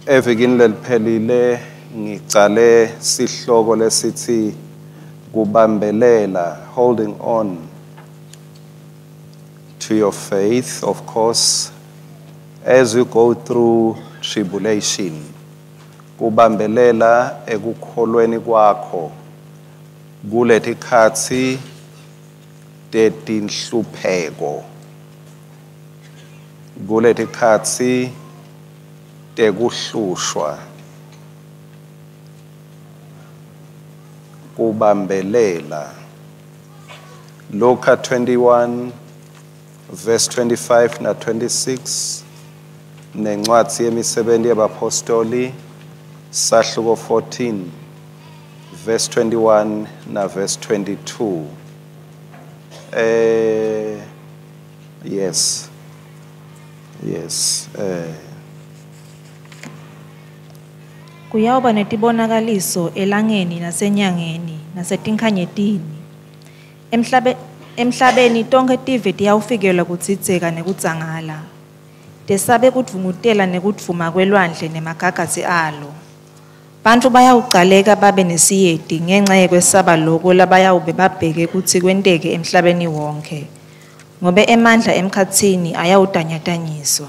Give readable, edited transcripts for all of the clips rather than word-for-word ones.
Evikini leliphelile ngicale sihloko lesithi kubambelela, holding on to your faith, of course, as you go through tribulation. Kubambelela ekukholweni kwakho kuletikhatsi tetinhlupheko, kuletikhatsi tekuhlushwa, kubambelela. Luka 21 verse 25 na 26 nencwadi yemisebenti yabapostoli sahluko 14 verse 21 na verse 22. Yes. Yes. Kuyawuba netibonakaliso elangeni nasenyangeni nasetinkhanyetini. Emhlabeni tonkhe tive tiyawufikelwa kudzidzeka nekudzangala. Tesabe kudvungutela nekudvuma kwelwandle nemagagasi alo. Bantfu bayawucaleka babe nesiyeti ngenca yekwesaba loko labayawube babheke kutsi kwenteke emhlabeni wonke, ngobe emandla emkhatsini ayawutanyatanyiswa.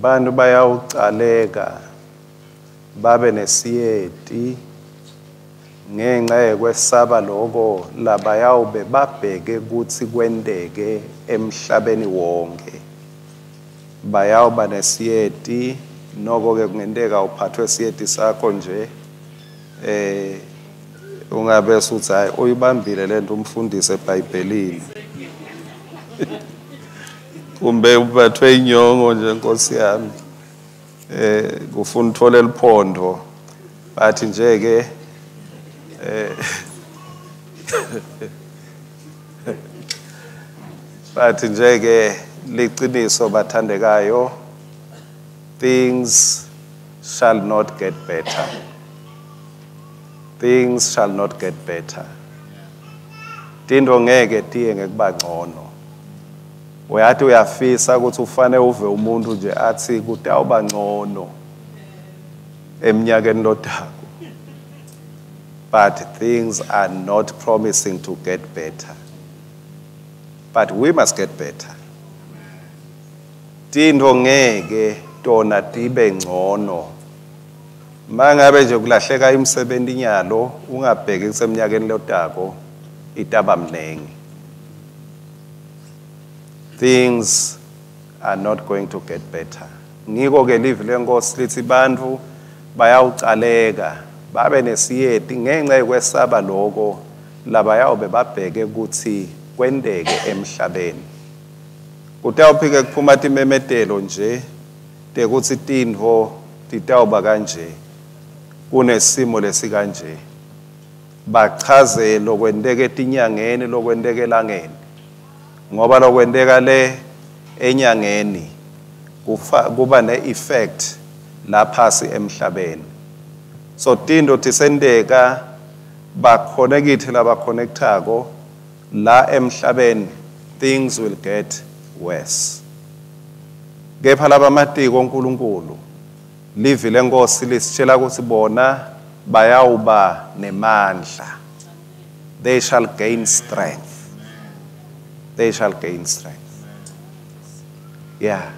Bantu bayawucaleka babe nesiyeti ngenca yekwesaba loko labayawube babheke kutsi kwenteke emhlabeni wonke. Bayawuba nesiyeti, noko-ke kungenteka uphathwe siyeti sakho nje, ungabe usuthi hayi uyibambile lento umfundisi eBhayibhelini. Kumbe uphathwe inyongo nje Nkosi yami, kufuna uthole liphondo, bathi nje ke bathi nje ke liqiniso bathandekayo, things shall not get better. Things shall not get better. Tinto ngeke tiye ngekuba ngcono. Uyathi uyafisa ukuthi ufane uve umuntu nje athi kutawuba ngcono eminyakeni lodako. But things are not promising to get better. But we must get better. Tinto ngeke tona tibe ngcono. Mangabe nje kulahleka imisebenzi nyalo ungabheki kuseminyakeni lodako itaba mnengi. Things are not going to get better. Ngiko ke livi lenkosi lithi bantfu bayawucaleka babe nesiyeti ngenxa yekwesaba loko labayawube babheke kutsi kwenteke emhlabeni. Kutawuphike kuphuma timemetelo nje tekutsi tintfo titawuba kanje, kunesimo lesikanje, bachaze lokwenteke etinyangeni, lokwenteke elangeni, ngoba lokwenteka le enyangeni kuba ne-effect laphasi emhlabeni. So tinto tisenteka bakhonekithe labakhonekthako la emhlabeni, things will get worse. Kepha labamatiko uNkulunkulu, livi lenkosi lisitshela ukuthi bona bayawuba nemandla. They shall gain strength. They shall gain strength. Yeah.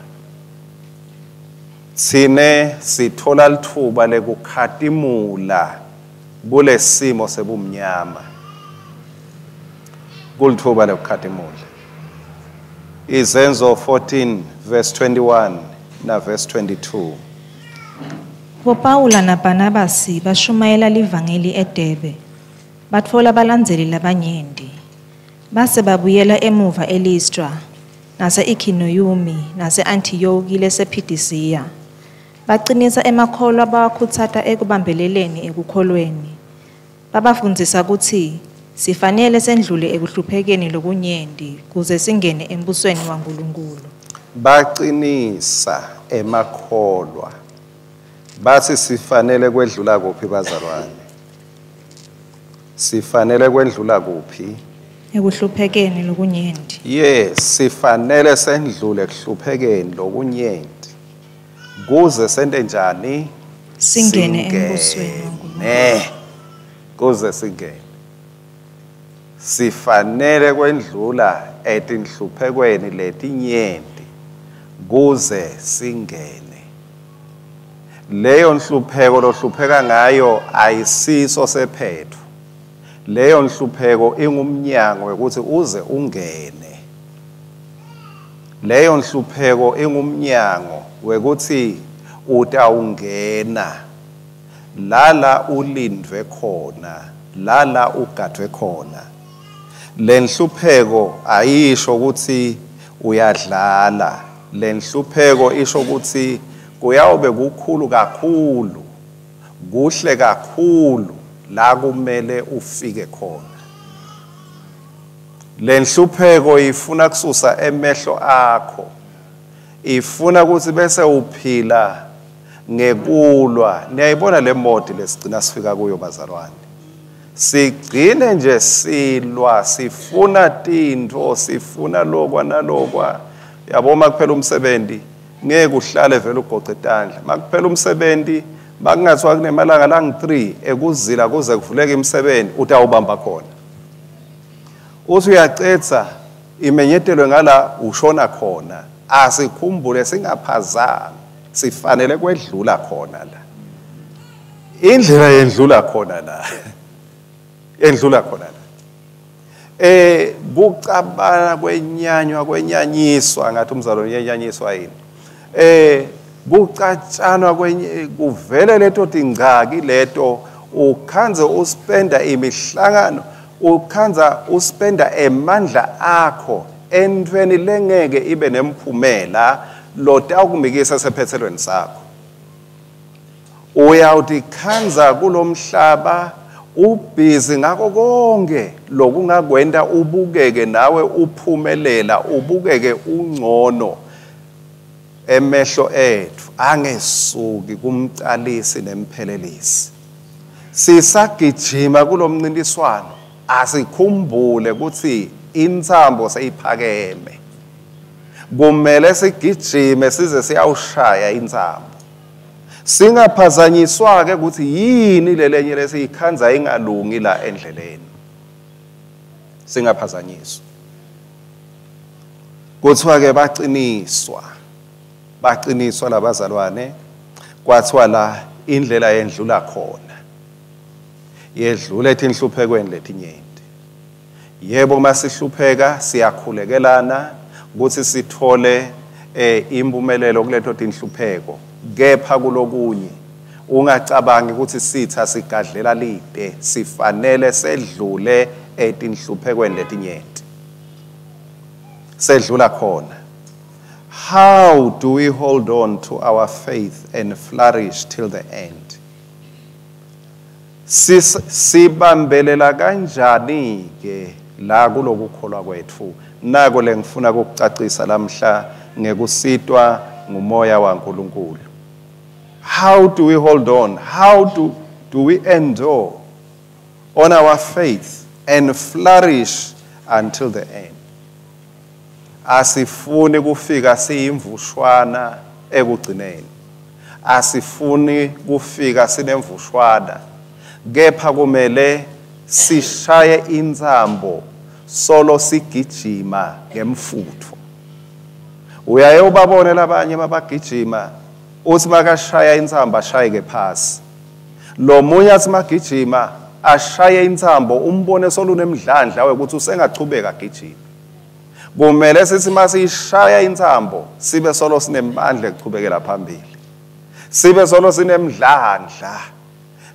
Sine sithola lithuba lekukhatimula kulesimo sebumnyama. Kulithuba lekukhatimula. Izenzo 14 verse 21 na verse 22. BoPawula naBarnabasi bashumayela livangeli eDerbe, batfola balandzeli labanyenti. Base babuyela emuva eListra, nase-Ikhoniyumi, nase-Antiyokhi lesePhisidiya. Bacinisa emakholwa bawakhutsata ekubambeleleni ekukholweni. Babafundzisa kutsi sifanele sendlule ekuhluphekeni lokunyenti kuze singene embusweni waNkulunkulu. Bacinisa emakholwa. Bathi sifanele kwedlula kuphi bazalwane? Sifanele kwendlula kuphi? Ekuhluphekeni lokunyenti. Yes, sifanele sendlule ekuhluphekeni lokunyenti kuze sente njani? Singene embusweni waNkulunkulu. Kuze singene. Sifanele kwendlula etinhluphekweni letinyenti kuze singene. Leyo nhlupheko lohlupheka ngayo ayisiso sephetho. Leyo nhlupheko ingumnyango wekuthi uze ungene. Leyo nhlupheko ingumnyango wekuthi utawungena lala ulindwe khona, lala ugadwe khona. Lenhlupheko ayisho ukuthi uyadlala. Lenhlupheko isho ukuthi kuyawube kukhulu kakhulu, kuhle kakhulu la kumele ufike khona. Lenhlupheko ifuna kususa emehlo akho, ifuna ukuthi bese uphila ngekulwa. Niyayibona le modi lesigcina sifika kuyo bazalwane, sigcine nje silwa, sifuna tintfo, sifuna lokwa nalokwa. Yabo, makuphela umsebenzi ngeke uhlale vele ugoqe tandla. Makuphela umsebenzi bakungathiwa kunemalanga langu-3 ekuzila kuze kuvuleke imisebenzi, utawubamba khona. Uthi uyacetha imenyetelwe ngala ushona khona. Asikhumbule singaphazami, sifanele kwedlula khona la. Indlela yendlula khona la. Endlula khona la. Kucabana kwenyanywa kwenyanyiswa, ngathi umzalwane uyenyanyiswa yini? Kucatshanwa kwenye kuvele leto tingcaki leto, ukhanze uspenda imihlangano, ukhanza uspenda emandla akho entweni lengeke ibe nemphumela lotawukumikisa sephethelweni sakho. Uyawutikhanza kulomhlaba ubhizi ngako konke lokungakwenta ubukeke nawe uphumelela, ubukeke ungcono. Emehlo ethu angesuki kumcalisi nemphelelisi. Sisagijima kulomncintiswano, asikhumbule ukuthi intsambo seyiphakeme. Kumele sigijime size siyawushaya intsambo. Singaphazanyiswa ke ukuthi yini lelenye lesiyikhanza ingalungi la endleleni. Singaphazanyiswa. Kuthiwa ke baqiniswa. Baqiniswa labazalwane, kwathiwa la indlela yendlula khona. Yedlula etinhluphekweni letinyenti. Yebo, masihlupheka siyakhulekelana ukuthi sithole impumelelo kuleto tinhlupheko, kepha kulokunye ungacabangi ukuthi sitha sigadlela lide, sifanele sedlule etinhluphekweni letinyenti. Sedlula khona. How do we hold on to our faith and flourish till the end? Sibambelela kanjani ke la kulokukholwa kwethu? Nako lengifuna ukucacisa lamhla ngekusitwa ngumoya waNkulunkulu. How do we hold on? How do we endure on our faith and flourish until the end? Asifuni kufika siyimvushwana ekugcineni. Asifuni kufika sinemvushwana, kepha kumele sishaye intsambo solo sigijima ngemfutfo. Uyaye ubabone labanye mabagijima, uthi makashaya intsambo ashayeke phasi. Lo munye athi magijima ashaye intsambo, umbone solunemdlandla wekuthi usengachubeka agijime. Kumele sithi masishaya intsambo sibe solo sinemandla ekuchubekela phambili, sibe solo sinemdlandla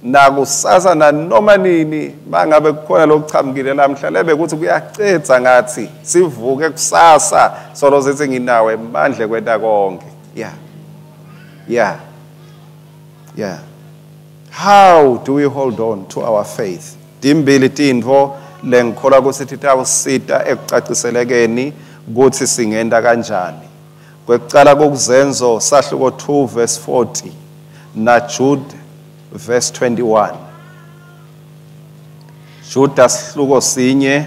nakusasa nanoma nini. Mangabe kukhona lokuchamukile lamhla lebe kuthi kuyacetha ngathi sivuke kusasa solo sithi nginawe emandla kwenta konke. Yeah. How do we hold on to our faith? Timbili tintfo lengikholwa kutsi titawusita ekucaciselekeni kutsi singenta kanjani. Kwekucala kukuzenzo sahluko 2 verse 40 na Jude verse 21. Juda sihluko 1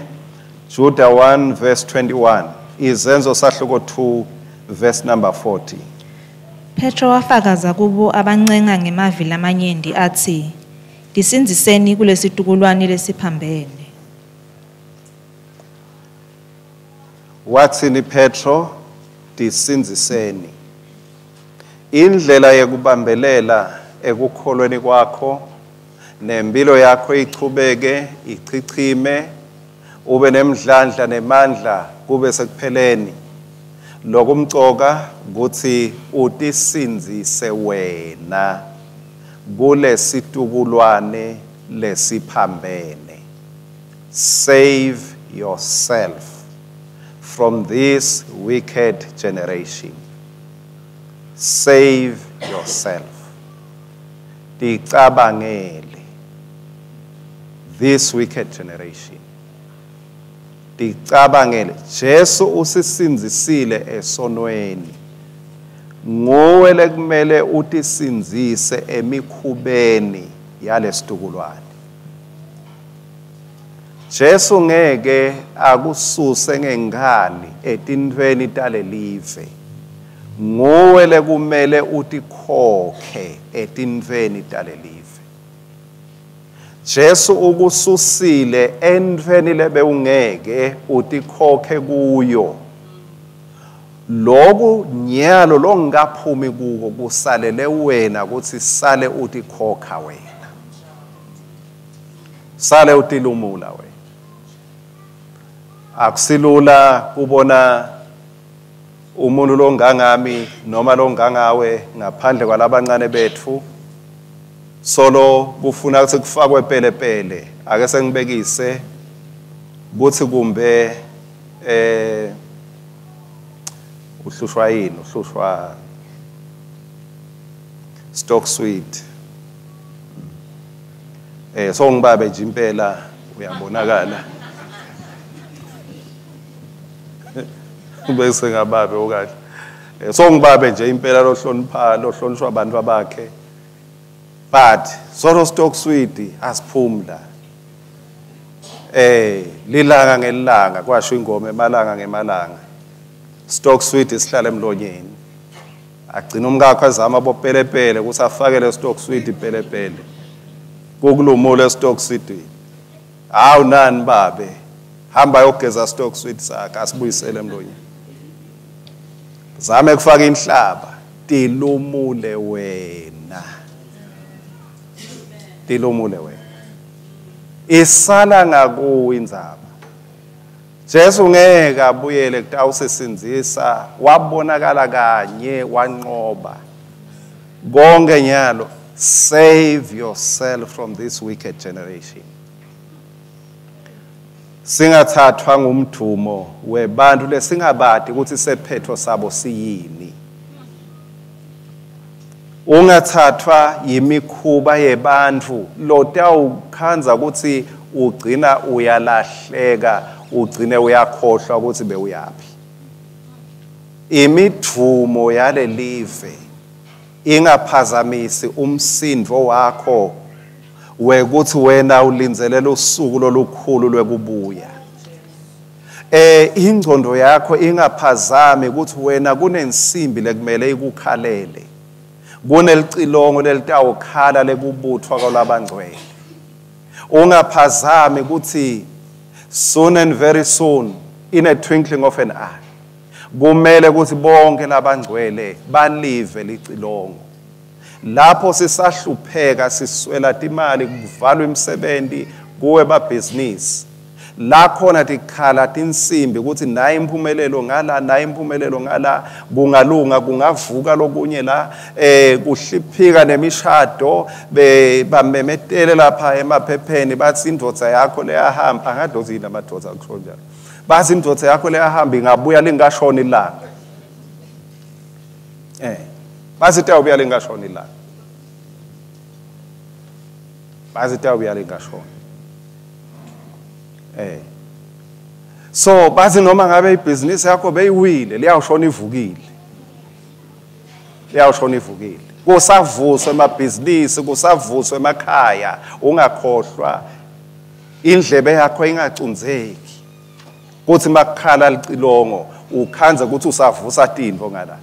Juda 1 verse 21. Izenzo sahluko 2 verse number 40. Petro wafakaza kubo abancenga ngemavi lamanyenti atsi, "Tisindziseni kulesitukulwane lesiphambene." Watsini Petro? Tisindziseni. Indlela yekubambelela ekukholweni kwakho nempilo yakho ichubeke ichichime, ube nemdlandla nemandla kube sekupheleni. Lokumcoka kutsi utisindzise wena kulesitukulwane lesiphambene. Save yourself from this wicked generation. Save yourself. Ticabangele this wicked generation. Ticabangele. Jesu usisindzisile esonweni. Nguwe lekumele utisindzise emikhubeni yalesitukulwane. Jesu ngeke akususe ngenkani etintfweni talelive. Nguwe lekumele utikhokhe etintfweni talelive. Jesu ukususile entfweni lebewungeke utikhokhe kuyo. Loku nyalo longaphumi kuko kusalele wena kutsi sale utikhokha wena. Sale utilumula wena. Akusilula kubona umuntu longangami noma longangawe ngaphandle kwalabancane betfu solo kufuna kutsi kufakwe pelepele. Ake sengibekise kutsi kumbe uhlushwa yini, uhlushwa stock sweet. So ngibabe nje impela uyabonakala. Bese ngababe okahle. So ngibabe nje impela lohlonipha lohlonishwa abantu abakhe. But solo stock sweet asiphumla. Lilanga ngelanga kwasho ingoma emalanga ngemalanga. Stock sweet isihlala emlonyeni. Agcina umkakho azama bopelepele ukuthi afakele stock sweet pelepele. Kukulumula stock sweet. Hawu nani babe. Hamba yogeza stock sweet sakhe asibuyisele emlonyeni. Zame kufaka inhlaba, tilumule wena. Tilumule wena. Isala ngakuwe indzaba. Jesu ngeke abuyele kutawusisindzisa, wabonakala kanye wanqoba. Konke nyalo, save yourself from this wicked generation. Singathathwa ngumdumo webantu lesingabadi ukuthi sephetho sabo siyini. Ungathathwa yimikhuba yebantu lotawukhandza ukuthi ugcina uyalahleka, ugcine uyakhohlwa ukuthi bewuyaphi. Imidvumo yalelive ingaphazamisi umsindvo wakho wekuthi wena ulindzelela usuku lolukhulu lwekubuya. Ingcondo yakho ingaphazami ukuthi wena kunensimbi lekumele ikukhalele. Kunelicilongo lelitawukhala lekubuthwa kwalabangcwele. Ungaphazami ukuthi soon and very soon, in a twinkling of an eye, kumele ukuthi bonke labangcwele balive licilongo. Lapho sisahlupheka siswela timali, kuvalwa imisebenzi, kuwe babhizinisi. La khona tikhala tinsimbi ukuthi nayi impumelelo ngala, nayi impumelelo ngala, kungalunga kungavuka lokunye la, kuhliphika nemishado, bamemetele lapha emaphepheni bathi indvodza yakho leyahamba, angadozi yini amadvodza akusho njalo. Bathi indvodza yakho leyahamba ingabuya lingashoni ilanga. Bathi itawubuya lingashoni ilanga. Bathi itawubuya lingashoni. So bathi noma ngabe ibhizinisi yakho beyiwile, liyawushona ivukile. Liyawushona ivukile. Kusavuswa emabhizinisi, kusavuswa emakhaya, ungakhohlwa indlebe yakho ingacunzeki. Kuthi makukhala licilongo ukhandze ukuthi usavusa tintfo ngala.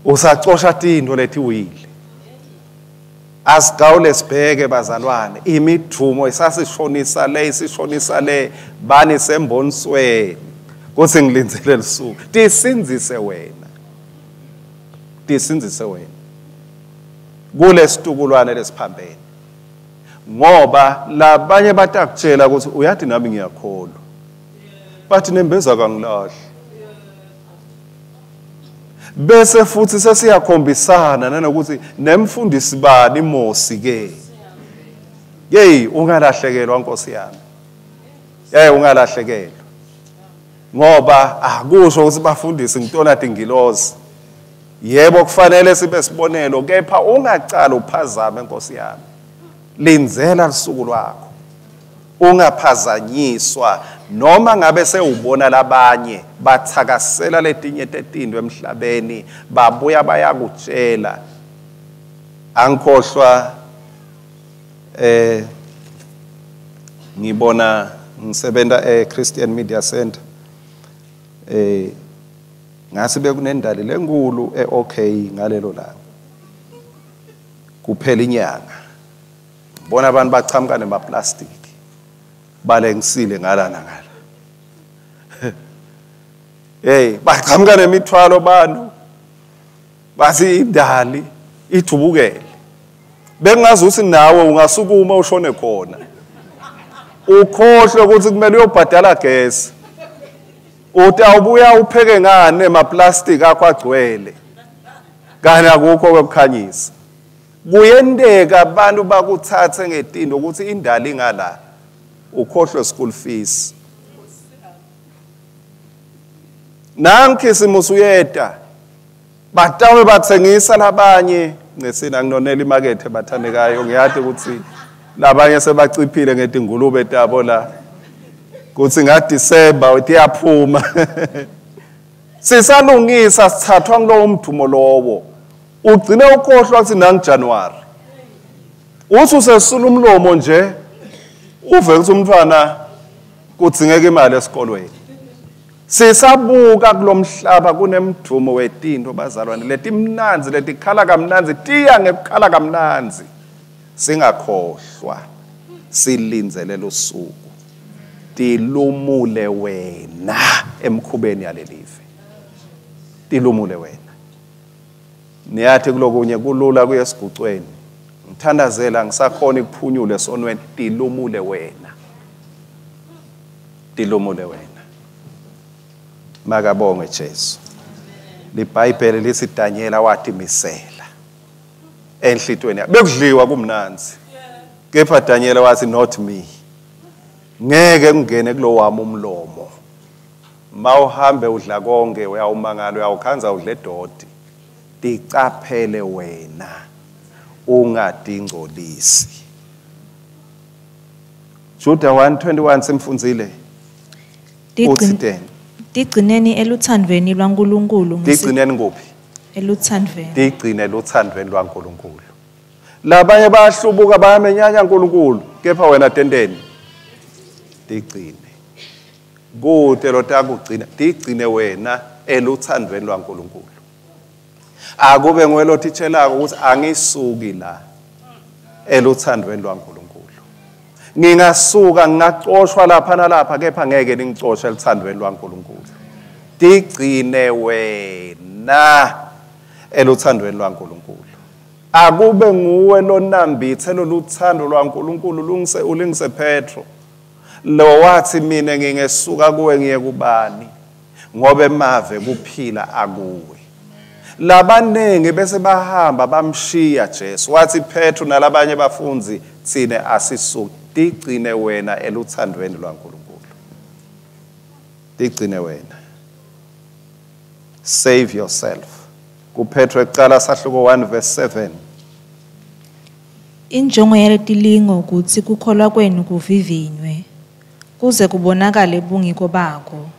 Usacosha tintfo letiwile. Asigawule sibheke bazalwane, imidumo isasishonisa le, isishonisa le, bani sembonisweni kuthi ngilindzele lusuku. Tisindzise wena. Tisindzise wena kulesitukulwane lesiphambene. Ngoba labanye batakutshela ukuthi uyathi nami ngiyakholwa. Bathi nembeza kangilahli. Bese futhi sesiyakhombisana nanokuthi nemfundisi bani Mosi ke. Hey, ungalahlekelwa Nkosi yami. Hey, ungalahlekelwa. Ngoba akusho ukuthi bafundisi ngitona tingilozi. Yebo kufanele sibe sibonelo, kepha ungacala uphazame Nkosi yami. Lindzela lusuku lwakho. Ungaphazanyiswa noma ngabe sewubona labanye bathakasela letinye tetinto emhlabeni babuya bayakutshela. Angikhohlwa ngibona ngisebenta e-Christian Media Center, ngase bekunendali lenkulu e-OK ngalelo langa. Kuphela inyanga. Bona abantu bachamuka nemaplastic balengisile ngala nangala. Hey, bachamuka nemithwalo bantu. Bathi indali ithubukele. Bengazi ukuthi nawe ungasukuma ushone khona. Ukhohlwe ukuthi kumele uyobhadala gesi. Utawubuya upheke ngane emaplastic akho agcwele. Kani akukho ukukhanyisa. Kuyenteka abantu bakuthathe ngetinto ukuthi indali ngala ukhohlwe school fees. Nankhisimusi uyeta batawe bathengisa labanye ngesina nginonela imakethe bathandekayo, ngiyathi ukuthi labanye sebaciphile ngetingulube tabo la kuthi nga December uyaphuma. Sisalungisa sithathwa kulowo mdumo lowo. Ugcine ukhohlwa ukuthi nangu January. Uthi usesula umlomo nje uve ukuthi umntwana kudzingeka imali esikolweni. Sisabuka kulomhlaba kunemdumo wetinto bazalwane letimnanzi letikhala kamnanzi tiya ngekukhala kamnanzi. Singakhohlwa silindzele lusuku. Tilumule wena emkhubeni yalelive. Tilumule wena. Niyathi kulokunye kulula kuye esigucweni. Ngithandazela ngisakhona ukuphunyula esonweni. Tilumule wena. Tilumule wena. Makabongwe Jesu. LiBhayibheli lithi Daniela watimisela enhlitweni yakhe. Bekudliwa kumnanzi. Kepha Daniela wathi not me. Ngeke ngene kulo wami umlomo. Mawuhambe udla konke uyawumangala uyawukhanza udle dodi. Ticaphele wena ungadingcolisi. Juda 1:21 simfundzile. Uthi Tigcineni eluthandweni lwaNkulunkulu. Tigcineni kuphi? Eluthandweni. Tigcine eluthandweni lwaNkulunkulu. Labanye bayahlubuka bayamenyanya uNkulunkulu, kepha wena tenteni? Tigcine. Kude lotakugcina, tigcine wena eluthandweni lwaNkulunkulu. Akube nguwe lothitshelako ukuthi angisuki la eluthandweni lwaNkulunkulu. Ngingasuka ngingacoshwa lapha nalapha kepha ngeke ningicoshe eluthandweni lwaNkulunkulu. Tigcine wena eluthandweni lwaNkulunkulu. Akube nguwe lonambithe loluthando lwaNkulunkulu lungise ulingise Petro. Lo wathi mina ngingesuka kuwe ngiye kubani ngoba emave kuphila akuwe. Labanengi bese bahamba bamshiya Jesu. Wathi Petro nalabanye bafundzi tsine asisuki. Tigcine wena eluthandweni lwaNkulunkulu. Tigcine wena. Save yourself. KuPetro ekuqala sahluko 1 verse 7. Injongo yaletilingo ukuthi kukholwa kwenu kuvivinywe kuze kubonakale bungiko bako.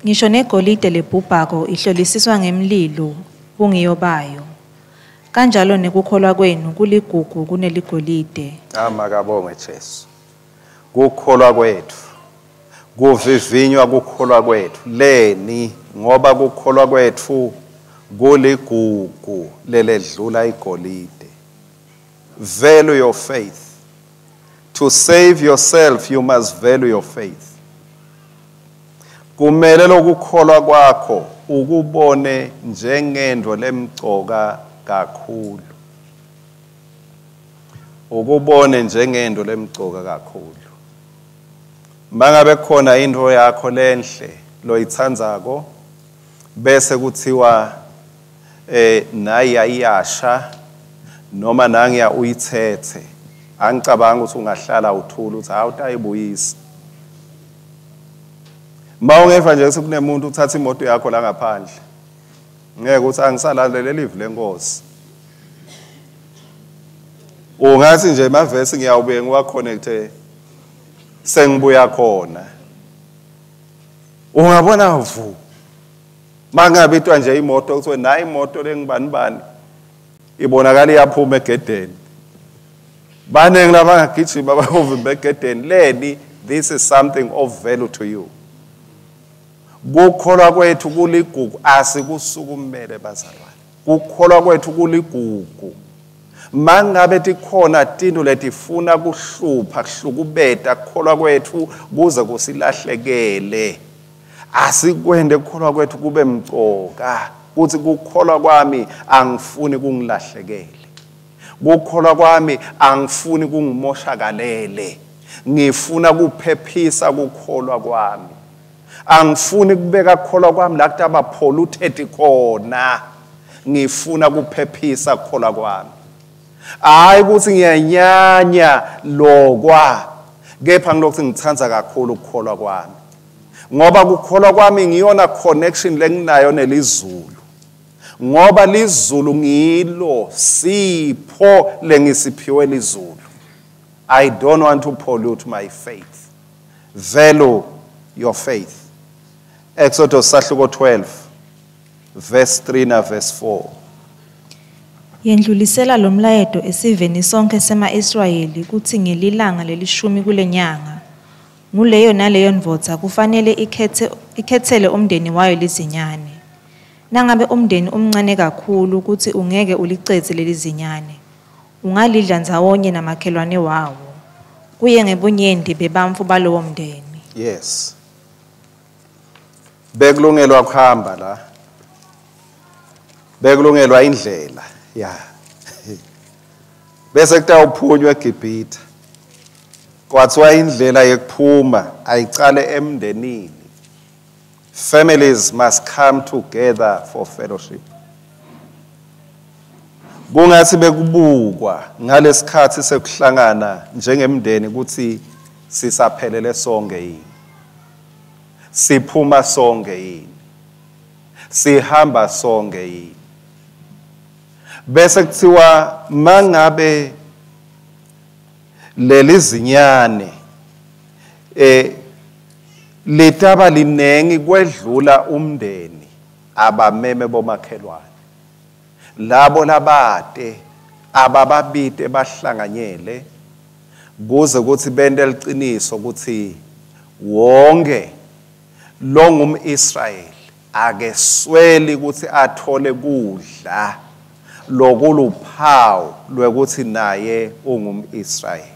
Ngisho negolide lebhubhako ihlolisiswa ngemlilo bungiyo bayo. Kanjalo nekukholwa kwenu kuligugu kuneligolide. Amakabongwe Jesu. Kukholwa kwetfu, kuvivinywa kukholwa kwetfu. Leni? Ngoba kukholwa kwetfu kuligugu leledlula igolide. Value your faith. To save yourself, you must value your faith. Kumele lokukholwa kwakho ukubone njengento lemcoka kakhulu. Ukubone njengento lemcoka kakhulu. Mangabe khona into yakho lenhle loyitsandzako bese kuthiwa nayi ayiyasha noma nangiya uyithethe, angicabanga ukuthi ungahlala uthula uthi hawu utayibuyisa. Mawungeva nje sekunemuntu uthatha imoto yakho la ngaphandle, ngeke uthi angisalalele live lenkosi. Ungathi nje emavesi ngiyawubuye ngiwaconnecte sengibuya khona. Ungabona vu mangabitwa nje imoto kuthiwe nayi imoto lengibani bani ibonakala iyaphuma egedeni. Baningi labangagijima bayovimba egedeni. Leni, this is something of value to you. Kukholwa kwethu kuligugu, asikusukumele bazalwane. Kukholwa kwethu kuligugu. Mangabe tikhona tinto letifuna kuhlupha, kuhlukubeta kukholwa kwethu kuze kusilahlekele, asikwende kukholwa kwethu kube mcoka. Kuthi kukholwa kwami angifuni kungilahlekele, kukholwa kwami angifuni kungimoshakalele, ngifuna kuphephisa kukholwa kwami, angifuni kubeka kukholwa kwami la kutaba polluted khona, ngifuna kuphephisa kukholwa kwami. Hayi ukuthi ngiyanyanya lokwa, kepha ngilokhu ngithanda kakhulu ukukholwa kwami, ngoba kukholwa kwami ngiyona connection lenginayo nelizulu, ngoba lizulu ngilo sipho lengisiphiwe lizulu. I don't want to pollute my faith. Value your faith. Exodus sahluko 12 verse 3 na verse 4. Yendlulisela lo mlayeto esiveni sonke sema-Israyeli kutsi ngelilanga lelishumi kulenyanga, nguleyo naleyo ndvodza kufanele ikhetsele umndeni wayo lizinyane. Nangabe umndeni umncane kakhulu kutsi ungeke ulicedze lelizinyane, ungalidla ndzawonye namakhelwane wawo, kuye ngebunyenti bebantfu balowo mndeni. Yes. Bekulungelwa kuhamba la. Bekulungelwa indlela. Ya. Bese kutawuphunywa eGibhithe. Kwathiwa indlela yekuphuma ayicale emndenini. Families must come together for fellowship. Kungathi bekubukwa ngalesikhathi sekuhlangana njengemndeni ukuthi sisaphelele sonke yini, siphuma sonke yini, sihamba sonke yini. Bese kuthiwa mangabe lelizinyane litaba linengi kwedlula umndeni, abameme bomakhelwane labo labate abababite bahlanganyele, kuze kuthi bente liciniso ukuthi wonke longumIsrayeli akesweli ukuthi athole kudla lokuluphawu lwekuthi naye ungumIsrayeli.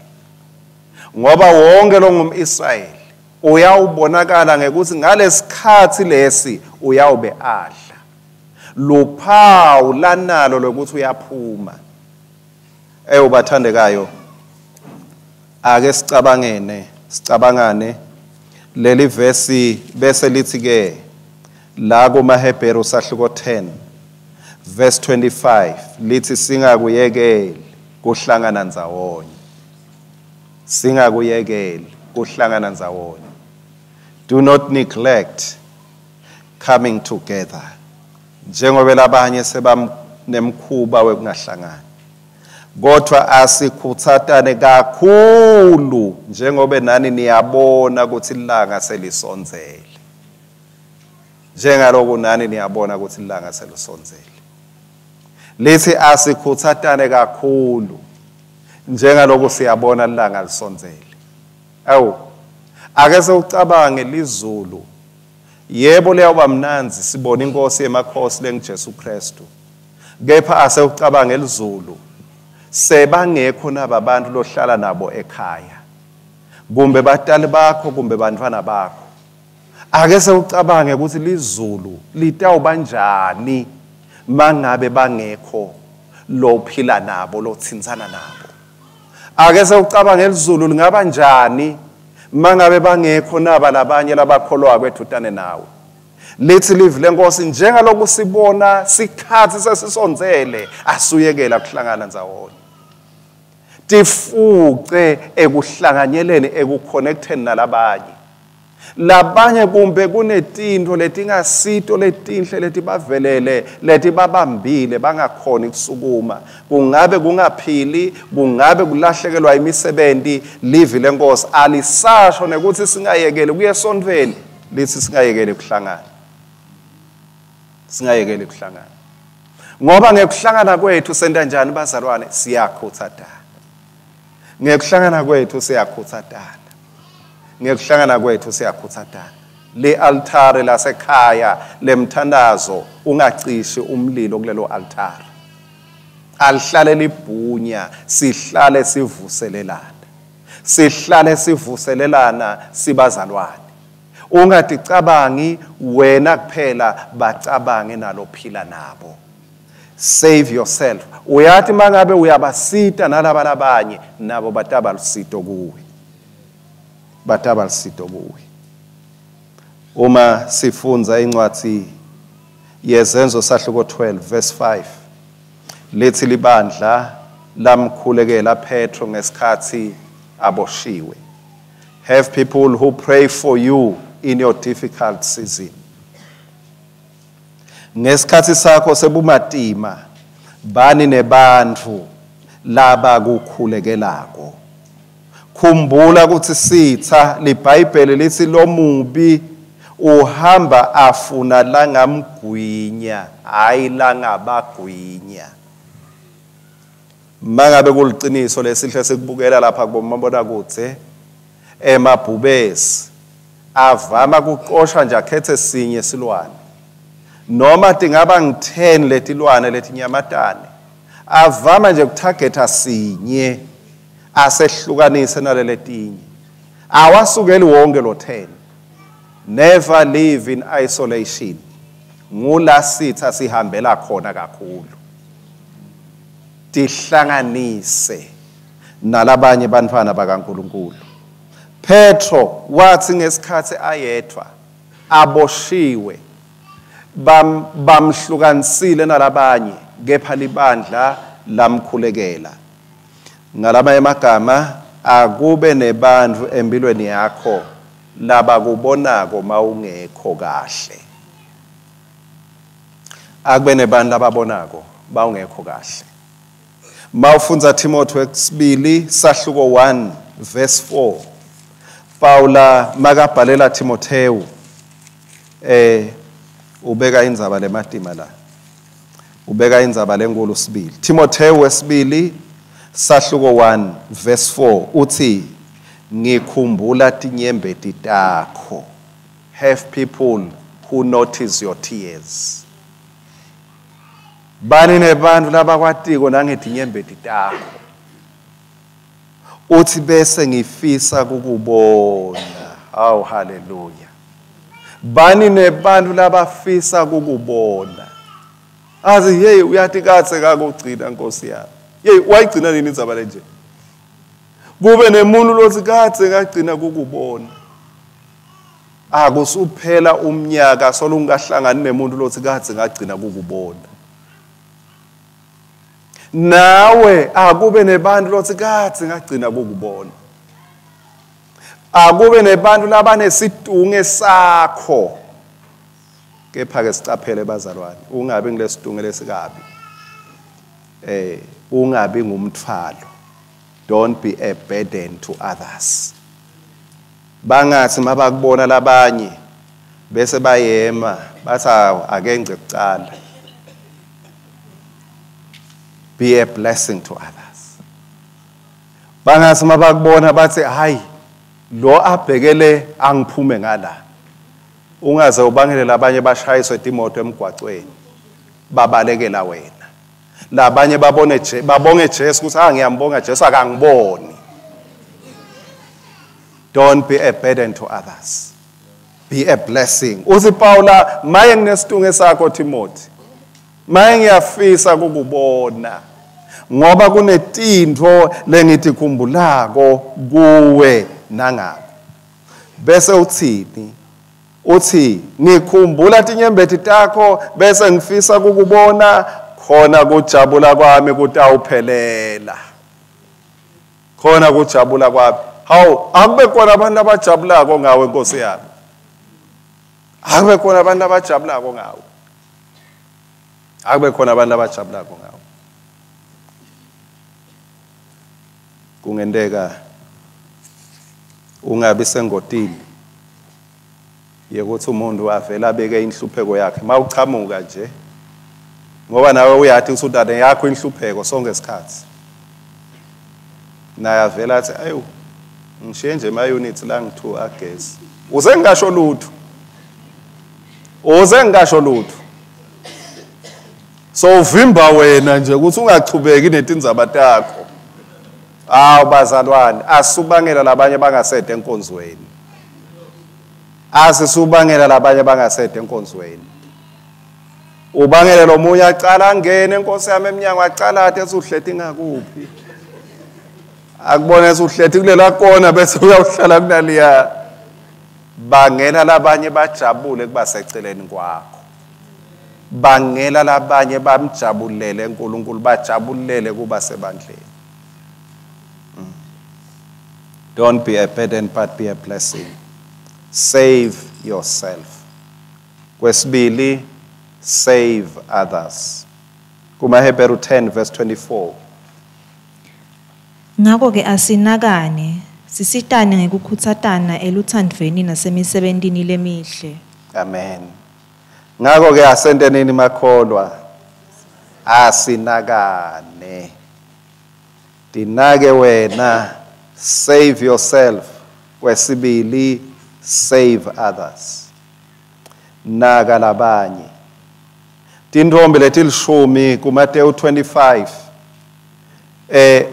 Ngoba wonke longumIsrayeli uyawubonakala ngekuthi ngalesikhathi lesi uyawube adla luphawu lanalo lokuthi uyaphuma. Eyobathandekayo, ake sicabangane leli verse bese lithi ke la kumaHebheru sahluko 10 verse 25 lithi singakuyekeli kuhlangana ndzawonye, singakuyekeli kuhlangana ndzawonye. Do not neglect coming together. Njengoba labanye sebanemkhuba wekungahlangani, kodwa asikhuthatane kakhulu njengoba nani niyabona ukuthi ilanga selisondzele. Njengaloku nani niyabona ukuthi ilanga selisondzele. Lithi asikhuthatane kakhulu njengaloku siyabona ilanga lisondzele. Awu, ake sewucabange lizulu. Yebo liyawuba mnandzi sibone inkosi yemakhosi lenguJesu Kristu. Kepha asewucabange lizulu. Sebangekho naba bantu lohlala nabo ekhaya. Kumbe batali bakho kumbe bantfwana bakho. Ake sewucabange ukuthi lizulu litawubanjani mangabe bangekho lophila nabo lothintsana nabo. Ake sewucabange lizulu lingaba njani mangabe bangekho naba labanye labakholwa kwethutane nawe. Lithi livi lenkosi njengaloku sibona sikhathi sesisondzele asuyekela kuhlangana ndzawonye. Tifuce ekuhlanganyeleni ekuconnecteni nalabanye. Labanye kumbe kunetinto letingasito letinhle letibavelele letibabambile bangakhoni kusukuma. Kungabe kungaphili, kungabe kulahlekelwa imisebenti. Livi lenkosi alisasho nekuthi singayekeli kuye esontfweni, lithi singayekeli kuhlangana. Singayekeli kuhlangana. Ngoba ngekuhlangana kwethu senta njani bazalwane? Siyakhuthatana. Ngekuhlangana kwethu siyakhuthatana. Ngekuhlangana kwethu siyakhuthatana. Le altare lasekhaya lemthandazo ungacishi umlilo kulelo altare. Alihlale libhunya, sihlale sivuselelana. Sihlale sivuselelana sibazalwane. Ungaticabangi wena kuphela, bacabange nalophila nabo. Save yourself. Uyathi mangabe uyabasita nalaba labanye, nabo bataba lusito kuwe. Bataba lusito kuwe. Uma sifundza incwadi yeZenzo sahluko 12 verse 5, lithi libandla lamkhulekela Petro ngesikhathi aboshiwe. Have people who pray for you in your difficult season. Ngesikhathi sakho sebumatima, bani nebantfu labakukhulekelako. Khumbula ukuthi sitha liBhayibheli lithi lomubi uhamba afuna langamgwinya, hayi langabagwinya. Mangabe kuliciniso lesihle sikubukela lapha kubomabonakudze, emabhubesi avama kuqoshwa nje akhethe sinye silwane. Noma tingaba ngi-10 letilwane letinyamatane, avama nje kutargeta sinye asehlukanise naleletinye. Awasukeli wonke lo 10. Never live in isolation. Ngula sitha sihambela khona kakhulu. Tihlanganise nalabanye bantfwana bakaNkulunkulu. Petro wathi ngesikhathi ayedwa aboshiwe, bamhlukanisile nalabanye, kepha libandla lamkhulekela. Ngalamanye amagama, akube nebantfu empilweni yakho labakubonako mawungekho kahle. Akube nebantu lababonako bawungekho kahle. Mawufundza Timothy wesibili sahluko 1 verse 4, Paula makabhalela Timotheo ubeka indzaba lematima la. Ubeka indzaba lenkulu sibili. Timotheo wesibili sahluko 1 verse 4 uthi ngikhumbula tinyembeti takho. Have people who notice your tears. Bani nebantu labakwatiko nangetinyembeti takho. Uthi bese ngifisa kukubona. Awu haleluya. Bani nebantu labafisa kukubona. Athi hey uyathi katse kakugcina Nkosi yami. Hey wayigcina nini indzaba lenje? Kube nemuntu lothi katse kagcina kukubona. Akusuphela umnyaka solungahlangani nemuntu lothi katse ngagcina kukubona. Nawe akube nebantu lothi katse ngagcina kukubona. Akube nebantu labanesitunge sakho. Kepha ke sicaphele bazalwane, ungabi ngilesitunge lesikabi. Ungabi ngumthwalo. Don't be a burden to others. Bangathi mabakubona labanye bese bayema bathi akengce kucala. Be a blessing to others. Bangathi mabakubona bathi hayi Lo abhekele angiphume ngala. Ungaze ubangele labanye bashayiswe timoto emgwacweni. Babalekela wena. Labanye babone babonge Jesu ukuthi ngiyambonga Jesu akangiboni. Don't be a burden to others. Be a blessing. Uthi Paula, maye nginesitunge sakho Timothy. Maye ngiyafisa kukubona. Ngoba kunetintfo lengitikhumbulako kuwe nangako. Bese uthini? Uthi ngikhumbula tinyembeti takho bese ngifisa kukubona khona kujabula kwami kutawuphelela. Khona kujabula kwami. Hawu, akube khona abantu abajabulako ngawe Nkosi yami. Akube khona abantu abajabulako ngawe. Akube khona abantu abajabulako ngawe. Kungenteka ungabi sengotini yekuthi umuntu avela abeke inhlupheko yakhe mawuchamuka nje, ngoba nawe uyathi usudane yakho inhlupheko sonke isikhathi. Naye avela athi ayu ngishiye nje ma units la ngi2 agesi. Uze ngisho lutho. Uze ngisho lutho. So uvimba wena nje ukuthi ungachubeki netindzaba takho. Awu bazalwane, asubangela labanye bangasede enkonzweni. Asisubangela labanye bangasede enkonzweni. Ubangele lo munye acala angene enkosi yami eminyango acala athi esuhleti ngakuphi. Akubone esuhleti kulela kona bese uyawuhlala kunaliya. Bangela labanye bajabule kuba seceleni kwakho. Bangela labanye bamjabulele uNkulunkulu, bajabulele kuba sebandleni. Don't be a burden but be a blessing. Save yourself. Kwesibili, save others. KumaHebheru 10 verse 24. Ngakho ke asinakane, sisitane ngekukhutsatana eluthandvweni nasemisebentini lemihle. Amen. Ngakho ke asenteneni makholwa, asinakane. Dinake wena, save yourself. Kwesibili, save others. Naka labanye. Tintfombi letilishumi kuMateyu 25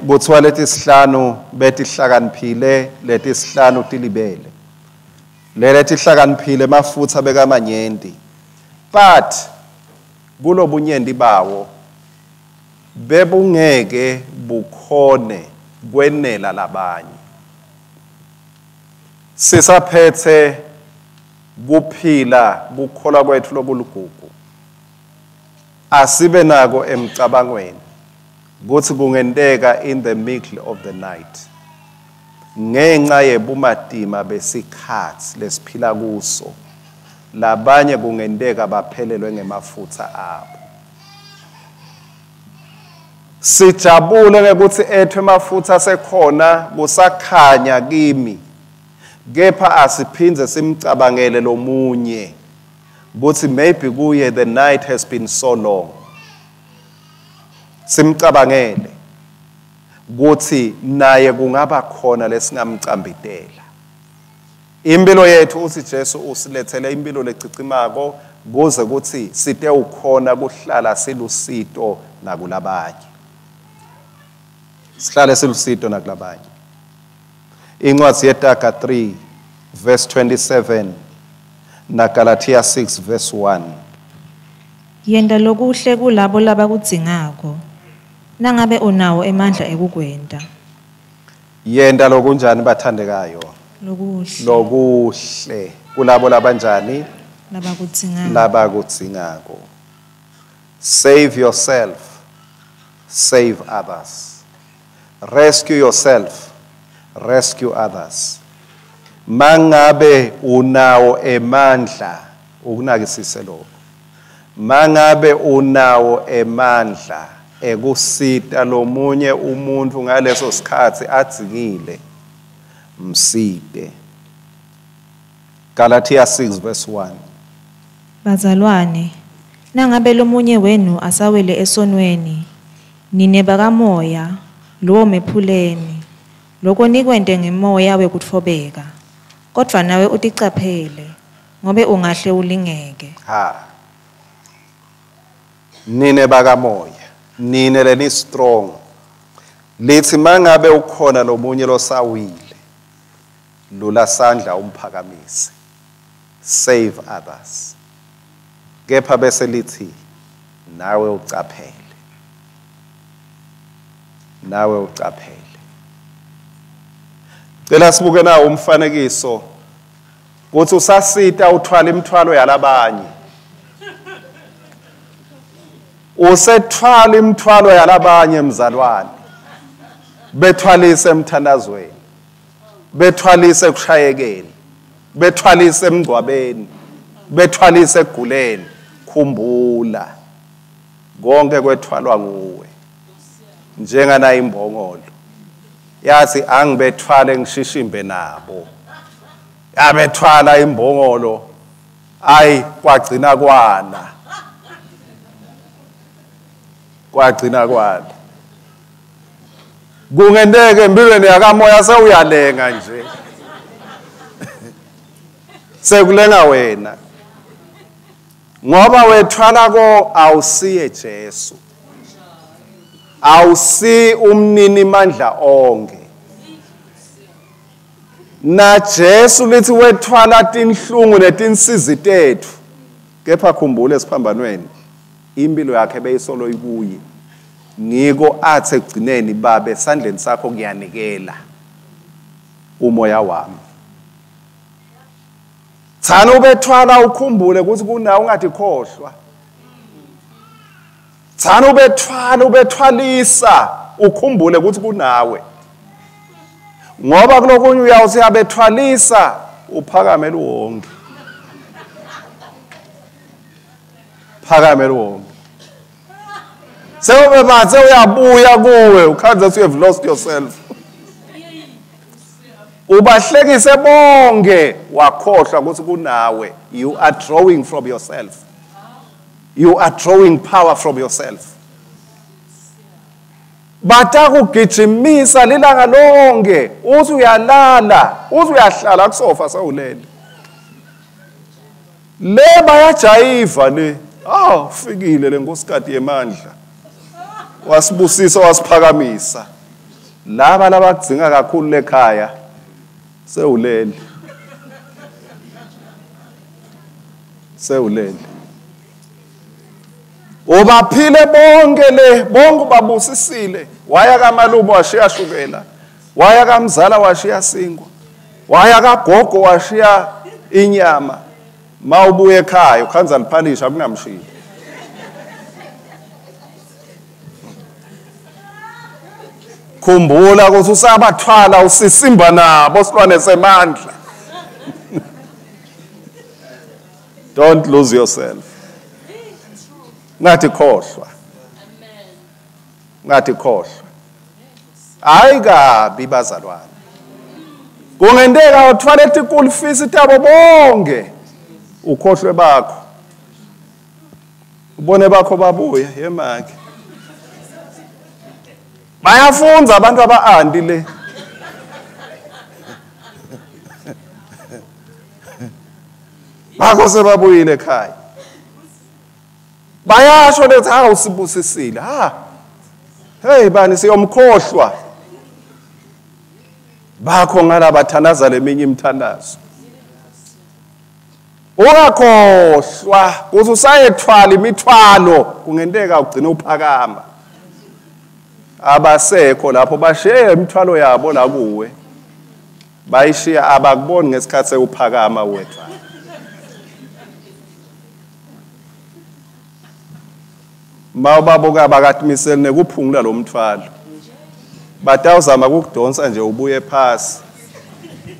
kuthiwa letisihlanu betihlakaniphile, letisihlanu tilibele. Leletihlakaniphile mafutha bekamanyenti. But kulobunyenti bawo bebungeke bukhone kwenela labanye. Sisaphethe kuphila kukholwa kwethu lokuligugu. Asibe nako emcabangweni kuthi kungenteka in the middle of the night ngenxa yebumatima besikhathi lesiphila kuso, labanye kungenteka baphelelwe ngemafutha abo. Sijabule ngekuthi ethu emafutha sekhona kusakhanya kimi, kepha asiphindze simcabangele lomunye kuthi maybe kuye the night has been so long. Simcabangele kuthi naye kungaba khona lesingamcambitela. Impilo yethu uthi Jesu usilethele impilo lecicimako kuze kuthi site ukhona kuhlala silusito nakulabanye. Sihlale silusito nakulabanye. Incwadi yeTaga 3 verse 27 na Galatia 6 verse 1. Yenta lokuhle kulabo labakudzingako, nangabe unawo emandla ekukwenta. Yenta lokunjani bathandekayo? Lokuhle. Lokuhle kulabo labanjani? Labakudzingako. Labakudzingako. Save yourself, save others. Rescue yourself, rescue others. Mangabe unawo emandla, ukunakisise lokho. Mangabe unawo emandla ekusita lomunye umuntu ngaleso sikhathi adzingile, msite. Galatia 6 verse 1. Bazalwane, nangabe lomunye wenu asawele esonweni, nine bakamoya, lowo mephuleni, Loko nikwente ngemoya wekutfobeka, kodvwa nawe uticaphele, ngobe ungahle ulingeke. Ha. Nine bakamoya, nine leni strong. Lithi mangabe ukhona lomunye losawile, lula sandla umphakamise. Save others. Kepha bese lithi nawe ucaphele. Nawe ucaphele. Cela sibuke nawo umfanekiso kuthi usasita uthwala imithwalo yalabanye. Usethwala imithwalo yalabanye mzalwane. Bethwalise emthandazweni. Bethwalise ekushayekeni. Bethwalise emngcwabeni. Bethwalise eguleni. Khumbula konke kwethwalwa nguwe. Njengana imbongolo. Yathi angibethwale ngishishimbe nabo. Yabethwala imbongolo. Ayi kwagcina kwana. Kwagcina kwana. Kungenteke empilweni yakamoya sewuyalenga nje. Sekulenga wena. Ngoba wethwala ko awusiye Jesu. Awusi umnini mandla onke. Na Jesu lithi wethwala tinhlungu netinsizi tethu. Kepha khumbula esiphambanweni impilo yakhe beyisolo ikuye. Ngiko athi ekugcineni babe esandleni sakho ngiyanikela umoya wami. Thana ubethwala ukhumbule ukuthi kunawe ungathi khohlwa. Thana ubethwala ubethwalisa ukhumbule ukuthi kunawe. Ngoba kulokunye uyawuthi uyabethwalisa uphakame luwonke. Phakame luwonke. Sewube bathe uyabuya kuwe ukhanza you have lost yourself. Ubahlekise bonke wakhohlwa ukuthi kunawe. You are drawing from yourself. You are drawing power from yourself. Batakugijimisa lilanga lonke, uthi uyalala, uthi uyahlala kusofa sewulele. Le bayajayiva le. Ah, ufikile le nkosikati yemandla. Wasibusisa wasiphakamisa. Laba labakudzinga kakhulu lekhaya sewulele. Sewulele. Ubaphile bonke le, bonke ubabusisile. Waya kamalume washiya shukela. Waya kamzala washiya sinkwa. Waya kagogo washiya inyama. Mawubuye ekhaya ukhanza liphalisha kunamshiya. Khumbula ukuthi usabathwala usisimba nabo silwane semandla. Don't lose yourself. Ngathi khohlwa. Ngathi khohlwa. Hayi kabi bazalwane. Kungenteka uthwale tikulu fees tabo bonke. Ukhohlwe bakho. Ubone bakho babuye yemake. Bayafunza abantu aba-anti le. Bakho sebabuyile ekhaya. Bayasho lethi ha usibusisile. Ha. Hey bani siyomkhohlwa. Bakho ngalabathandaza leminye imithandazo. Ungakhohlwa ukuthi usayethwala imithwalo kungenteka ugcine uphakama. Abasekho lapho bashiye imithwalo yabo la kuwe. Bayishiya abakuboni ngesikhathi sewuphakama wethwala. Mawubabuka bakatimisele nekuphungula lo mthwalo. Batawuzama ukukudonsa nje ubuye phasi.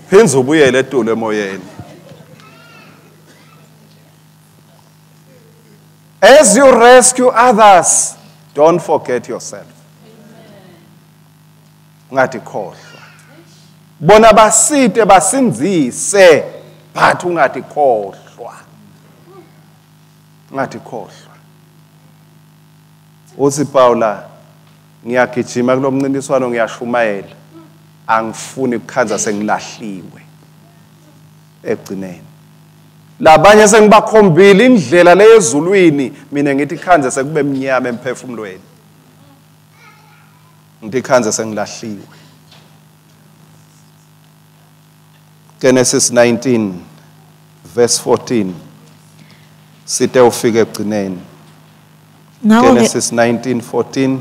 Phinze ubuyele etulo emoyeni. As you rescue others, don't forget yourself. Ungathi khohlwa. Bona basite basinzise, but ungathi khohlwa. Ungathi khohlwa. Uthi Paula, ngiyagijima kulomncintiswano ngiyashumayela. Angifuni kukhandza sengilahliwe ekugcineni. Labanye sengibakhombile indlela leyezulwini, mina ngithi khandze sekube mnyama emphefumulweni. Ngithi khandze sengilahliwe. Genesis 19 verse 14 site ufike ekugcineni. Genesis 19:14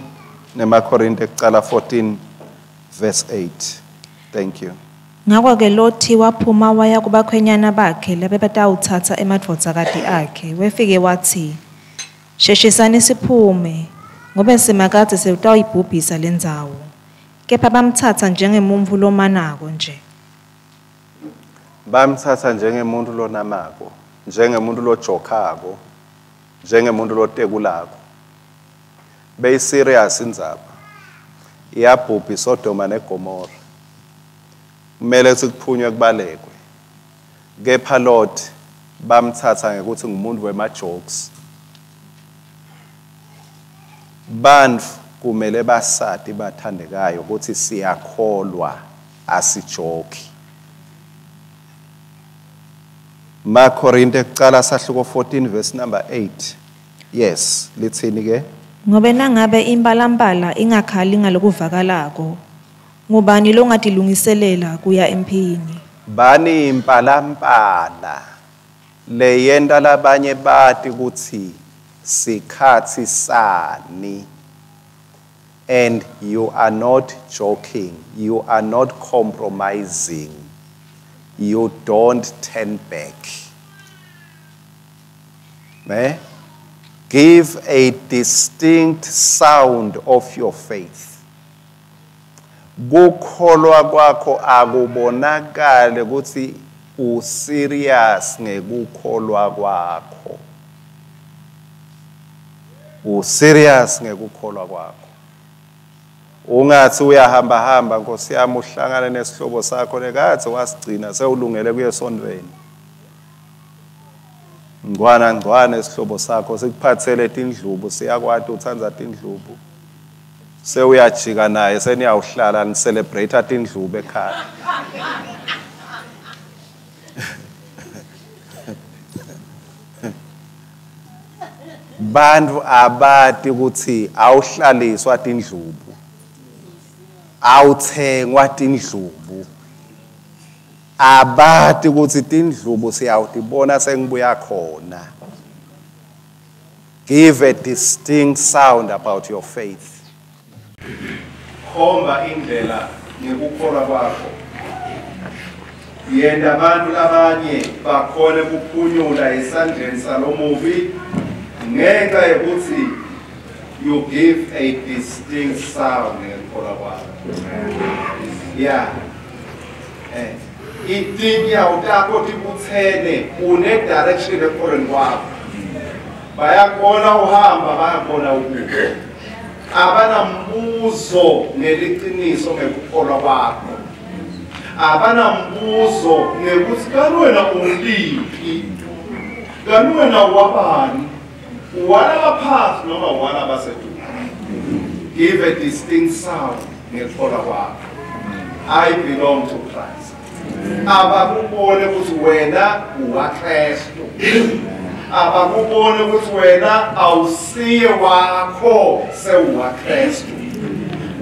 nemaKorinte kucala 14 verse 8. Thank you. Ngako-ke Loti waphuma waya kubakhwenyana bakhe labebatawutsatsa emadvodzakati akhe, wefike watsi, Sheshisani siphume, ngobe Simakadze sewutawuyibhubhisa lendzawo. Kepha bamtsatsa njengemuntfu lomanako nje. Bamtsatsa njengemuntfu lonamako, njengemuntfu lojokhako, njengemuntfu lotekulako. Beyi-serious indzaba. Iyabhubha iSodoma neGomora. Kumele kutsi kuphunywe kubalekwe. Kepha Lot bamtsatsa ngekuthi ngumuntu wema-jokes. Bantfu kumele basati bathandekayo ukuthi siyakholwa asijoki. MaKorinte kucala sahluko 14 verse number 8. Yes, litsini ke? Ngobe nangabe impalampala ingakhali ngalokuvakalako, ngubani longatilungiselela kuya emphini? Bani impalampala leyenta labanye bati kutsi sikhatsi sani. And you are not joking, you are not compromising, you don't turn back. Ne? Give a distinct sound of your faith. Kukholwa kwakho akubonakale ukuthi userious ngekukholwa kwakho. Userious ngekukholwa kwakho. Ungathi uyahamba hamba Nkosi yami uhlangane nesihlobo sakho lekathe wasigcina sewulungele kuye esontweni. Ngcwana ngcwana isihlobo sakho sikuphathele tindlubu, siyakwati utsandza tindlubu. Sewuyajika naye seniyawuhlala ni-celebrate tindlubu ekhaya. Bantu abati ukuthi awuhlaliswa tindlubu, awuthengwa tindlubu. Abati ukuthi tindlubu siyawutibona sengibuya khona. Give a distinct sound about your faith. Khomba indlela ngekukholwa kwakho. Yenta abantu labanye bakhone kuphunyula esandleni salomubi ngenxa yokuthi you give a distinct sound ngekukholwa kwakho. Yeah. Itinyawo takho tibutsene une direction ekukholweni kwakho. Bayakubona uhamba, bayakubona ubuka. Abanambuzo ngeliciniso ngekukholwa kwakho. Abanambuzo ngekuthi kanti wena uliphi, kanti wena wabani, walaba phansi noma walaba seduze. Give a distinct sound ngekukholwa kwakho. I belong to Christ. Abakubone ukuthi wena uwaKristu. Abakubone ukuthi wena awusiye wakho, sewuwaKristu.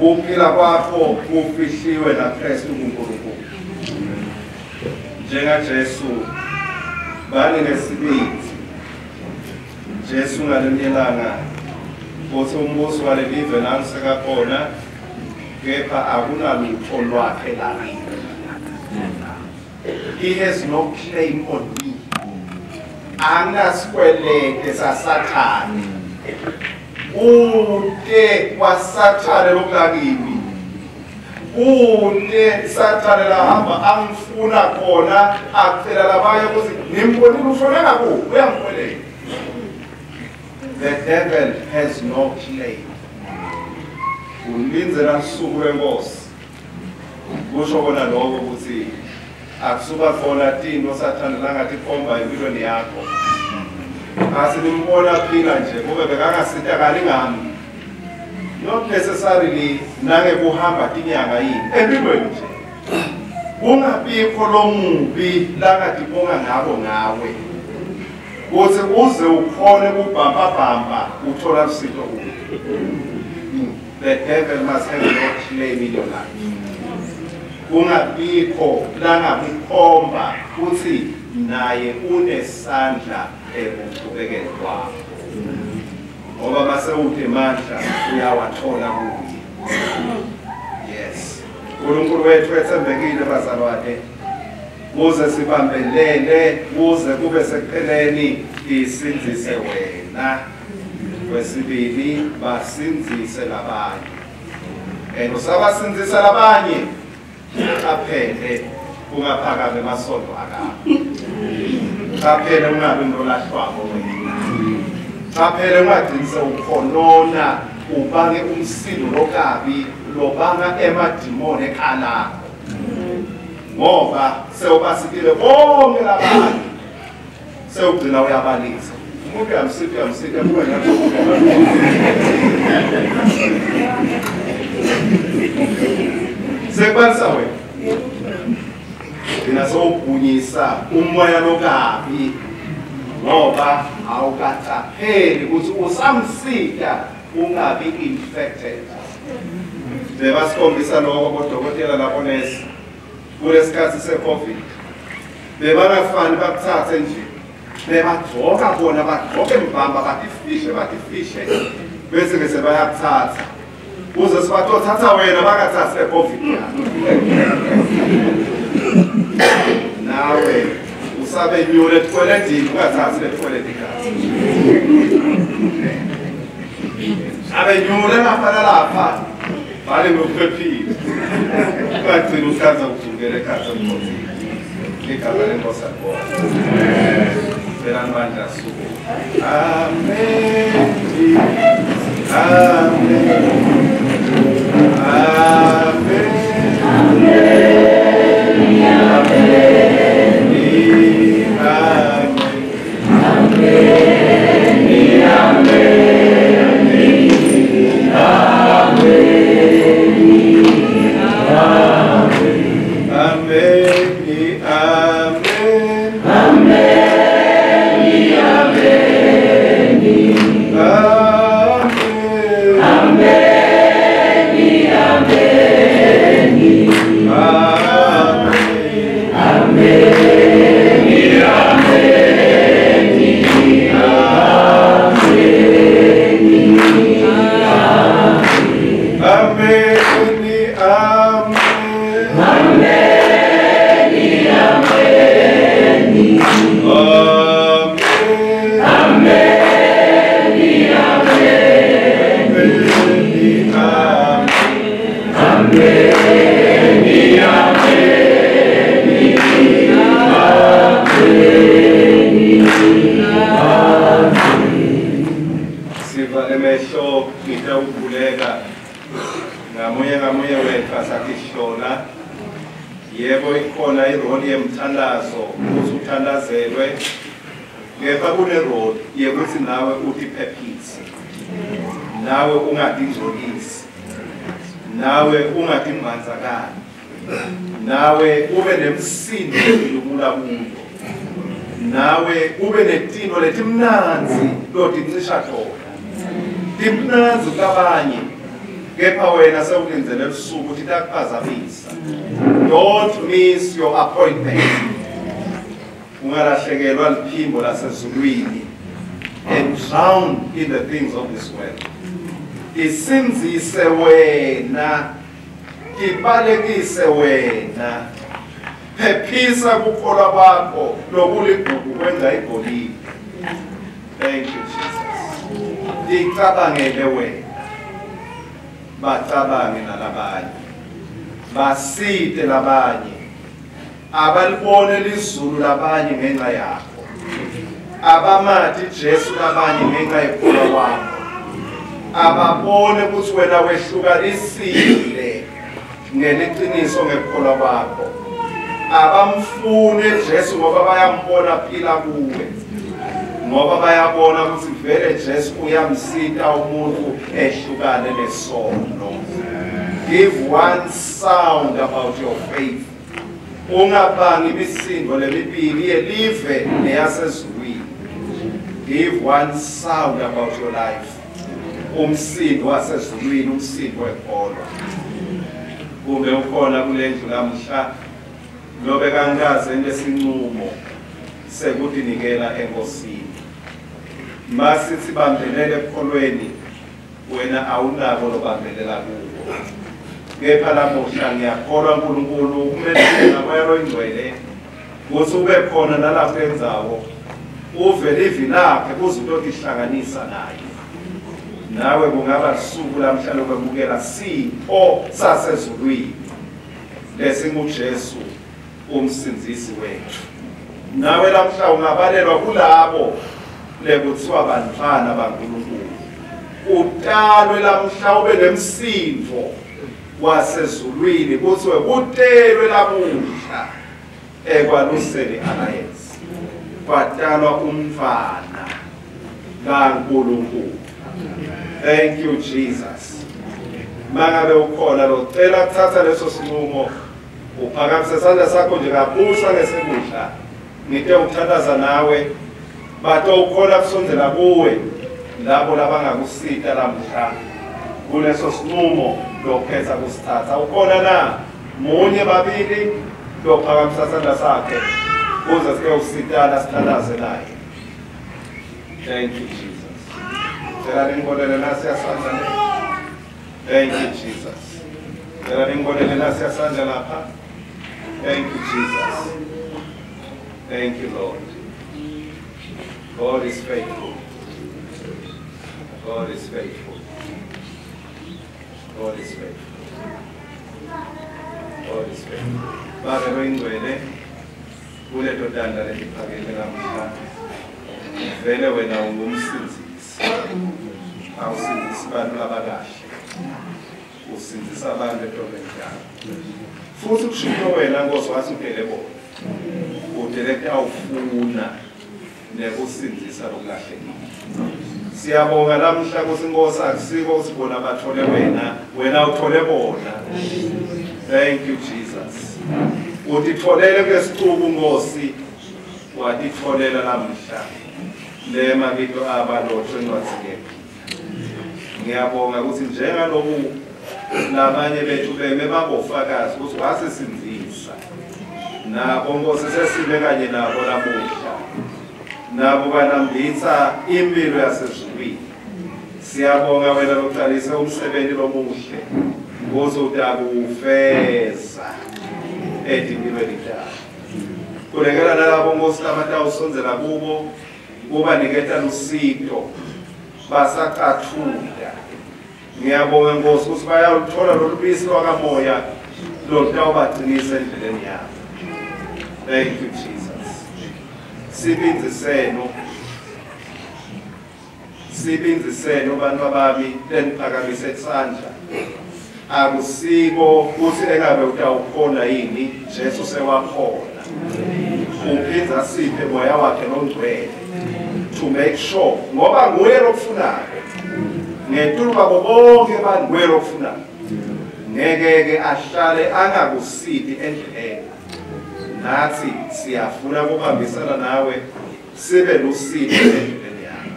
Kuphila kwakho kufihliwe naKristu kuNkulunkulu. NjengaJesu bani nesibindi. Jesu ngalinye ilanga uthi umbuso walelive nangisekakhona, kepha akunalutho lwakhe lakhe. He has no claim on me. Anginasikwelede saSathane. Kute kwaSathane lokulakimi. Kute Sathane lahamba angifuna khona, acela labanye ukuthi ngimbonile ushone ngakuphi, uyangikweleta. The devil has no claim. Ulindzela lusuku lwenkosi. Kusho kona lokho ukuthi akusuka khona tintfo Sathane langatikhomba empilweni yakho. Asinimbona phila nje kube bekangasitakali ngami. Not necessarily nangekuhamba tinyanga yini empilweni nje. Kungabikho lomubi langatibonga ngako ngawe. Kuthi uze ukhone kubhambabhamba uthola lusito kuye. The devil must have no claim in your life. Kungabikho langakukhomba kuthi naye unesandla ekuqhubekeni kwakho. Ngoba mase uthi mandla uyawathola kuye. Yes. uNkulunkulu wethu ethembekile bazalwane. Kuze sibambelele kuze kube sekupheleni isindzise wena. Kwesibili basindzise labanye. And usabasindzisa labanye qaphele ungaphakame emasondo akakho. Qaphele ungabi nolahlwako wena. Qaphele ungagcini sewukhonona ubange umsindo lokabi lobanga emadimoni ekhalakho. Ngoba sewubasikile bonke labanye sewugcina uyabalisa. Umuntu uyamsita uyamsita kuba sekubalisa wena. Gcina sewubhunyisa umoya lokabi ngoba awukacapheli ukuthi usamsita ungabi infected. Bebasikhombisa lokho bodokotela labonesi kulesikhathi se-COVID. Bebangafani bakuthathe nje. Bebagcoka bona bagcoke mbamba batifihle batifihle bese ke sebayakuthatha. Uze sibatothatha wena bangathathi le-COVID yakho. Nawe usabenyule etweletini ungathathi le toilet igazi. Abenyule lapha nalapha bale ngokuphephile. Ungagcina uhlanza ugcukele ekhaya emkhonzini. Igama lenkosi alibonge. Celani bandla suku. Amen. Amen. Amen. Amen. Amen. Amen. Amen. Sivale emehlo ngitawukhuleka ngamunye ngamunye wethu asatihlola. Yebo ikhona iroli yemthandazo ukuthi uthandazelwe, kepha kuneroli yekuthi nawe utiphephise, nawe ungatingcolisi, nawe ungatimbandzakali, nawe ube nemsindo lobula kuyo, nawe ube netino letimnandzi lotincisha tona. Timnandzi kulabanye kepha wena sewulindzele lusuku titakuphazamisa. Don't miss your appointment. Ungalahlekelwa liphimbo lasezulwini and drown in the things of this world. Isindzise wena, ibalekise wena, phephisa kukholwa kwakho lokuligugu kwenza igolide. Thank you Jesus. Icabangele wena, bacabange nalabanye, basite labanye, abalibone lizulu labanye ngenxa yakho, abamati Jesu labanye ngenxa yekukholwa kwakho, ababone ukuthi wena wehlukanisile ngeliciniso ngekukholwa kwakho, abamfune Jesu ngoba bayambona phila kuwe, ngoba bayabona ukuthi vele Jesu uyamsita umuntu ehlukane nesono. Give one sound about your faith. Ungabangi imisindo lemibili yelive neyasezulwini. Give one sound about your life. Umsindo wasezulwini, umsindo wekholwa. Kumbe ukhona kule ndlu lamhla lobe kangikaze lesinqumo sekutinikela enkosini. Masithi bambelele ekukholweni, wena awunako lobambelela kuko. Kepha lamuhla ngiyakholwa uNkulunkulu kumele ngamoya loyingcwele ukuthi ube khona nalapho endzawo, uve livi lakhe kuze utotihlanganisa naye. Nawe kungaba lusuku lamhla lokwemukela sipho sasezulwini lesinguJesu umsindzisi wethu. Nawe lamhla ungabalelwa kulabo lekuthiwa bantfwana baNkulunkulu. Utalwe lamhla ube nemsindvo wasezulwini kuthiwe kutelwe lamuhla eKwaluseni Alliance kwatalwa umntfwana kaNkulunkulu. Thank you Jesus. Mangabe ukhona locela kuthatha leso sinqumo, uphakamise isandla sakho nje kabusa ngesekudla, ngite ukuthandaza nawe. Bato ukhona kusondzela kuwe labo labangakusita lamhla kuleso sinqumo lokhetha kusithatha. Ukhona na munye babili lophakamisa isandla sakhe kuze sike usitana sithandaze naye? Thank you Jesus. Cela ningibonele nasi yasandla le. Thank you Jesus. Cela ningibonele nasi yasandla lapha. Thank you Jesus. Thank you Lord. God is faithful. God is faithful. God is faithful. God is faithful. Babe loyingcwele, kuleto tandla letiphakeme lamhla, vele wena ungumsindzisi. Awusindzisi bantu labakahle, usindzisa abantu etonweni tabo. Futhi ushilo wena Nkosi wathi udele bona, udele kutawufuna nekusindzisa lokulahlekile. Siyabonga lamhla ukuthi Nkosi akusiko ukuthi bona bathole wena, wena uthole bona. Thank you Jesus. Utitholele kulesicuku Nkosi, watitholela lamhla le mabito abalotshwe encwadzini yekuphila. Ngiyabonga ukuthi njengaloku labanye bethu beme babofakazi ukuthi wasisindzisa, nabo Nkosi sesime kanye nabo lamuhla, nabo banambitsa impilo yasezulwini. Siyabonga wena localise umsebenzi lomuhle kuze utakufeza etimpilweni tabo. Khulekela nalabo Nkosi labatawusondzela kubo, kubaniketa lusito basacathuda. Ngiyabonga Nkosi ukuthi bayaluthola lolu bisi lwakamoya lolutawubagcinisa endleleni yabo. Thank you Jesus. Sibindzi senu, sibindzi senu bantu bami leniphakamise isandla. Akusiko ukuthi engabe utawukhona yini, Jesu sewakhona. Uphinza siphe moya wakhe longcwele to make sure ngoba nguye lokufunako. Ngetulu kwabo bonke abantu nguye lokufunako. Ngeke ke ahlale angakusiti endleleni. Nathi siyafuna ukubambisana nawe sibe lusito endleleni yakho.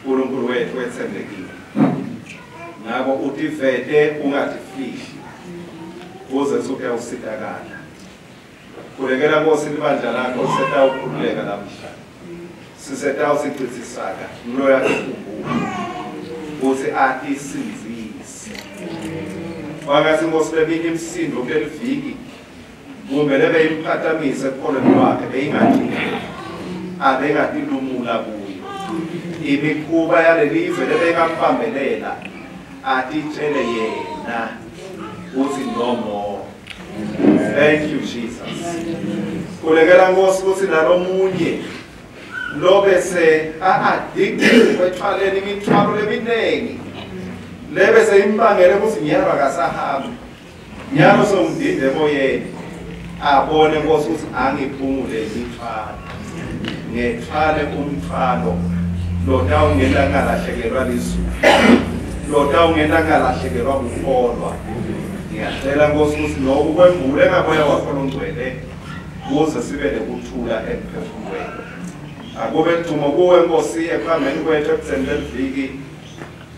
uNkulunkulu wethu wethembekile. Ngakho utivete ungatifihli kuze suke usitakala. Khulekela Nkosi libandla lakho lisetawukhululeka lamhla. Sisetawusichithisaka nguloyo atikhumbula ukuthi atisindzise. Kwangathi Nkosi leminye imisindo kuleli viki kumbe lebe imphatamise ekukholweni kwakhe beyingadlini, abengatilumula kuyo. Imikhuba yalelive lebengambambelela atitshele yena uthi no more. Thank you Jesus. Khulekela Nkosi ukuthi nalomunye lobese a-addicted kwethwaleni imithwalo leminingi lebese imbangele ukuthi nyalo akasahambi, nyalo sewumdinde emoyeni, abone Nkosi ukuthi angiphungule imithwalo, ngethwale umthwalo lotawungenta ngalahlekelwa lizulu, lotawungenta ngalahlekelwa kukholwa. Ngiyacela Nkosi ukuthi lokhu kwembule ngamoya wakho longcwele kuze sibe nekuthula emphefumulweni. Akube ludumo kuwe Nkosi ekuhambeni kwethu ekudzeni leliviki.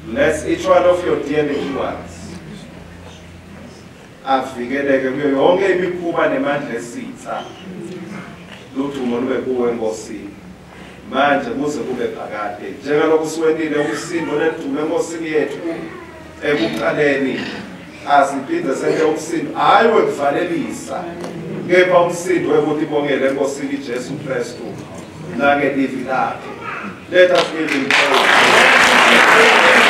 Bless each one of your dear little ones. Avikeleke kuyo yonke imikhuba nemandla esitha. Ludumo lube kuwe Nkosi manje kuze kube phakade. Njengalokhu siwentile umsindo nedumo eNkosini yethu ekuqaleni, asiphinde sente umsindo hayi wekuvalelisa, kepha umsindo wekutibongela eNkosini Jesu Kristu nangelivi lakhe. Let us give him praise.